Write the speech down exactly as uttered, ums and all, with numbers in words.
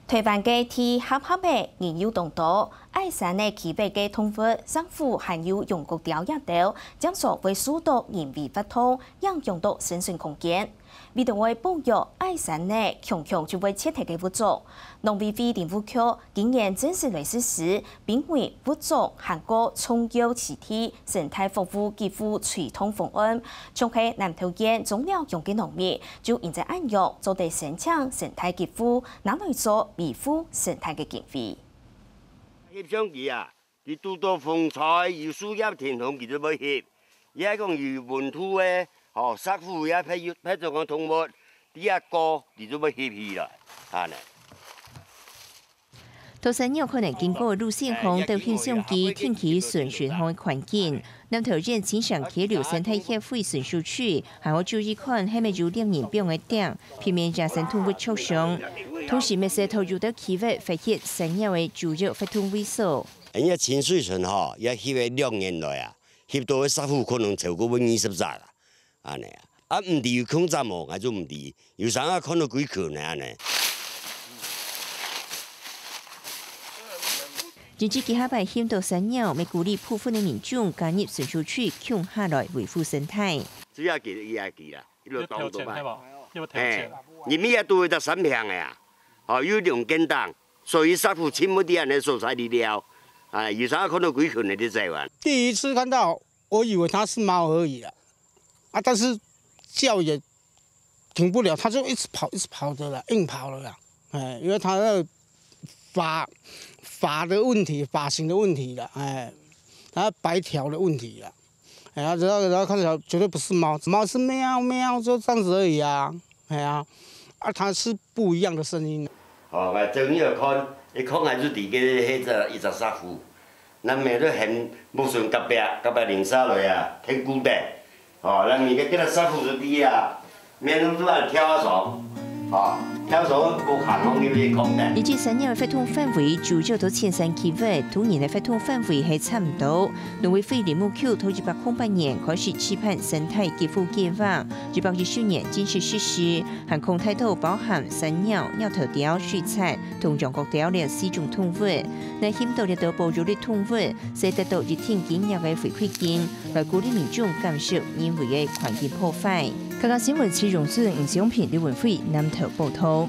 臺灣个地狹狹仔，人又當多，矮山仔居住个動物，石虎還有羊角鵰這兜，經常會受到人為活動影響到生存空間。為著愛保育矮山仔強強就會絕忒个物種，農委會林務局今年正式來實施 分為物種還過重要棲地生態保護給付推動方案，像係南投縣中寮鄉个農民，就因著恁樣做得申請生態給付，拿來做維護生態个經費。翕相機啊，佢堵到風吹，有樹葉停動，佢就會翕。也係講有溫度个，吼，石虎也別有，別種个動物，在該過，佢就會翕起來，恁呢。 到山腰可能經過路線項，都翕相機定期巡巡項个環境。南投縣清城溪流生態協會巡守區，還愛注意看係毋係有獵人放个釘，避免野生動物著傷。同時，乜係在有兜區域發現山腰个主要活動位所。人家清水村吼，也翕了兩年來啊，翕到个石虎可能超過二十隻啦。 恁呢啊。啊，毋知有控制無，𠊎就毋知。有時啊，看到幾群呢，恁呢。甚至幾下擺翕到山腰，乜鼓勵部分个民眾加入巡守區共下來維護生態。主要佢，佢也佢啦，佢就當多嘛。要投錢，對無？要投錢。嘿，入面也都有隻山坪个啊，吼，有兩間檔，所以石虎盡無在恁呢所在裡了。啊，有時啊，看到幾群个在走啊。第一次看到，我以為牠是貓而已啊。 啊，但是叫也停不了，牠就一直跑，一直跑的啦，硬跑了啦。哎，因為牠那個髮，髮的問題，髮型的問題啦，哎，牠白條的問題啦。哎呀，然後，然後看起來絕對不是貓，貓是喵喵，就這樣子而已啊。哎呀，啊，牠是不一樣的聲音。哦，𠊎正要看，一看𠊎就知个係一隻，一隻石虎。 𠊎乜都喊屋脣隔壁，隔壁鄰舍來啊，聽古仔。哦，𠊎每個今日師傅就知啊，面都都愛跳下床，哦，跳床無閒，講你去講个。日據山腰个活動範圍主要在淺山區域，當然个活動範圍係差毋多。農委會林務局在一百空八年開始試辦生態給付計畫，一百一十年正式實施， 涵蓋大多包含山鳥、貓頭鳥、水蠶同羊角鵰這四種動物。若翕到這兜保育類動物，就得到一定金額个回饋金，來鼓勵民眾減少人為个環境破壞。客家新聞，徐榮順、吳小平、李文輝，南投報導。